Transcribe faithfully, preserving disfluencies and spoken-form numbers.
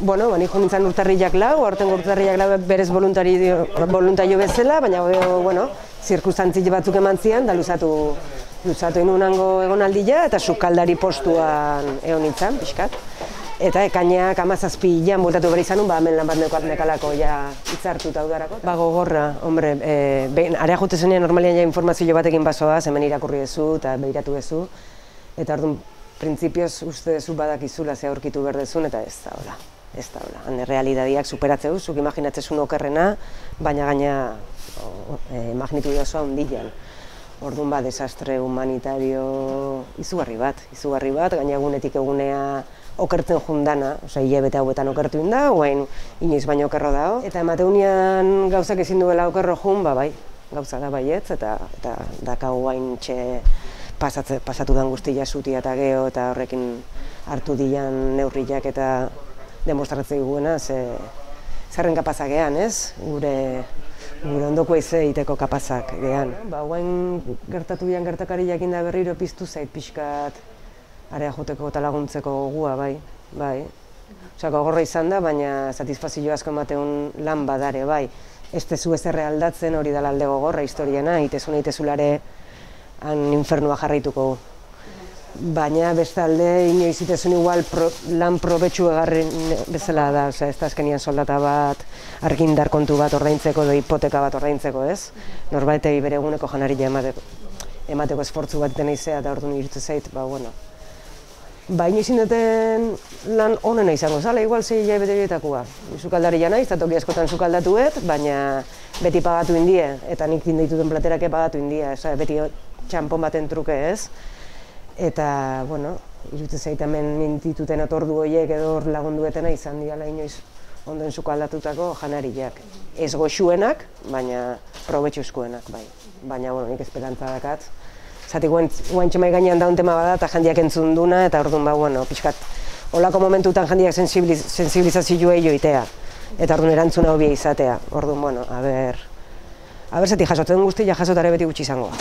Bueno, bani jo nintzen urtarriak lau, aurten urtarriak lau berez voluntario bezala, baina, bueno, zirkustantzi batzuk eman zian, da luzatu, luzatu inunango egonaldia, eta sukaldari postuan egon nintzen, pixkat. Eta ekainak amazazpi hilan bultatu behar izan, ba, hemen lan bat nekalako ja hitzartuta udarako. Ba, gogorra, hombre, e, behin, area jute zenean normalian ja informazio batekin basoaz, hemen irakurri ezu eta behiratu ezu. Eta orduan, printzipioz uste dezu badakizula ze aurkitu berdezun, eta ez da hola. Ez da hola. Hane realidadiak superatzeu, zuk imaginatzezun okerrena, baina gaina e, magnitude osoa hundilan. Orduan ba, desastre humanitario izugarri bat, izugarri bat, gaina egunetik egunea okertzen jundana, osea, hilabete hauetan okertu inda, guain inoiz baino okerro dao. Eta emateunian gauzak ezin duela okerro jun, ba bai, gauza da baietz, eta, eta dakau guain txe pasatze, pasatu dan guztia zutia eta geho, eta horrekin hartu dian neurriak eta demostratzei guena, ze zerren kapazak gehan, ez? Gure, gure ondoko eize iteko kapazak gehan. Ba, guain gertatu dian gertakari jakinda berriro piztu zait pixkat area joteko eta laguntzeko gogua, bai, bai. Osa, gogorra izan da, baina satisfazio asko emateun lan badare, bai. Ez tezu ez erre aldatzen hori dela alde gogorra historiana, itezuna itezulare han infernua jarraituko. Baina bestalde inoiz itezun igual pro, lan probetxu egarren bezala da, oza, ez da azkenian soldata bat, argindar kontu bat ordaintzeko edo hipoteka bat ordaintzeko, ez? Norbaitei bere eguneko janaria emateko, emateko esfortzu bat dena izea eta orduan irutu zait, ba, bueno. Ba, inoiz indeten lan onena izango zala, igual zei hilabete horietakoa. Sukaldari naiz, eta toki askotan sukaldatuet, baina beti pagatu indie, eta nik dituten platerake pagatu indie, eza, beti txampon baten truke ez. Eta, bueno, irutze zait hemen mintituten otordu horiek edo lagunduetena izan diala inoiz ondoen sukaldatutako janariak. Ez goxuenak, baina probetxuzkoenak, bai. Baina, bueno, nik esperantza dakat. Zati guain txemai gainean daun tema bada eta jendiak entzun duna, eta orduan, ba, bueno, pixkat, holako momentutan jendiak sensibiliz, sensibilizazioa joitea. Eta orduan erantzuna hobia izatea. Orduan, bueno, a ber, a ber zati jasotzen guztia jasotare beti gutxi izango.